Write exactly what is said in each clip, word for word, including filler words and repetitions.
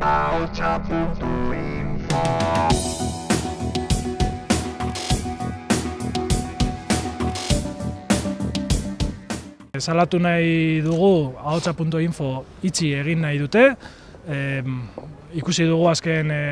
ahotsa puntu info. Salatu nahi dugu ahotsa puntu info itxi egin nahi dute. E, ikusi dugu azken e,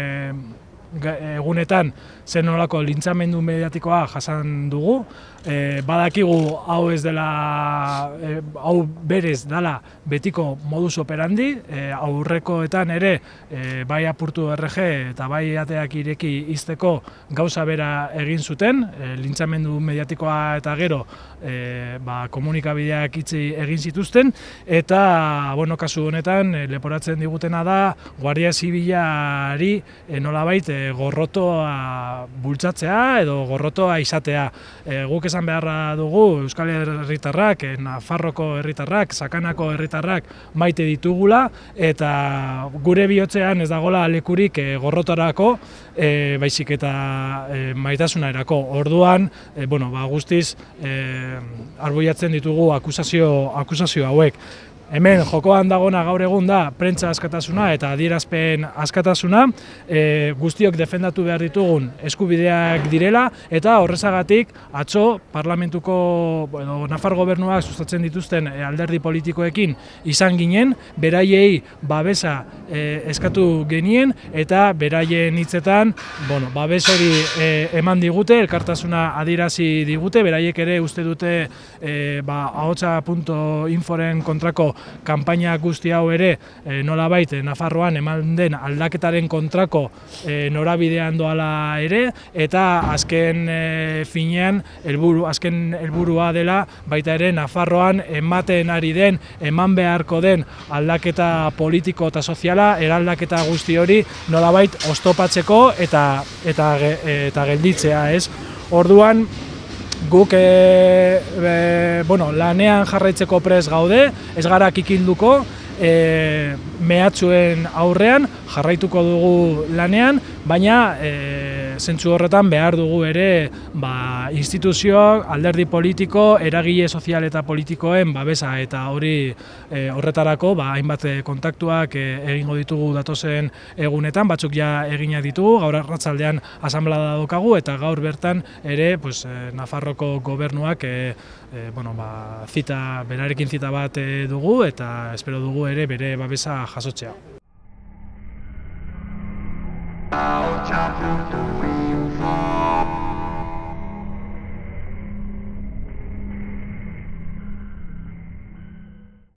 egunetan zer nolako lintzamendu mediatikoa jasan dugu. E, badakigu hau ez dela, e, hau berez dela betiko modus operandi, e, aurrekoetan ere e, bai Apurtu R G eta bai ateak ireki izteko gauza bera egin zuten, e, lintzamendu mediatikoa eta gero e, ba, komunikabideak itxi egin zituzten, eta bueno, kasu honetan e, leporatzen digutena da Guardia Zibilari e, nolabait e, gorrotoa bultzatzea edo gorrotoa izatea. E, guk esan beharra dugu Euskal Herritarrak, Nafarroko herritarrak, Sakanako herritarrak maite ditugula, eta gure bihotzean ez dagoela lekurik e, gorrotarako, e, baizik eta e, maitasunerako. Orduan, e, bueno, ba, guztiz e, arbuiatzen ditugu akusazio, akusazio hauek. Hemen jokoan dagona gaur egun da prentsa askatasuna eta adierazpen askatasuna, e, guztiok defendatu behar ditugun eskubideak direla, eta horrezagatik atzo parlamentuko bueno, Nafar gobernuak sustatzen dituzten e, alderdi politikoekin izan ginen, beraiei babesa e, eskatu genien, eta beraien hitzetan bueno, babes hori e, eman digute, elkartasuna adierazi digute, beraiek ere uste dute e, ba, ahotsa puntu inforen kontrako kanpaina guzti hau ere e, nolabait Nafarroan eman den aldaketaren kontrako e, norabidean doala ere, eta azken e, finean helburu, azken helburua dela baita ere Nafarroan ematen ari den, eman beharko den aldaketa politiko eta soziala, eraldaketa guzti hori nolabait oztopatzeko eta eta eta gelditzea, ez? Orduan guk e, e, bueno, lanean jarraitzeko prest gaude, ez gara kikilduko, e, mehatxuen aurrean jarraituko dugu lanean, baina e, zentzu horretan behar dugu ere ba, instituzioak, alderdi politiko, eragile sozial eta politikoen babesa, eta hori e, horretarako ba, hainbat kontaktuak e, egingo ditugu datozen egunetan, batzuk ja eginak ditugu, gaur arratsaldean asanblada daukagu, eta gaur bertan ere pues, e, Nafarroko gobernuak e, e, bueno, ba, zita, berarekin zita bat e, dugu, eta espero dugu ere bere babesa jasotzea.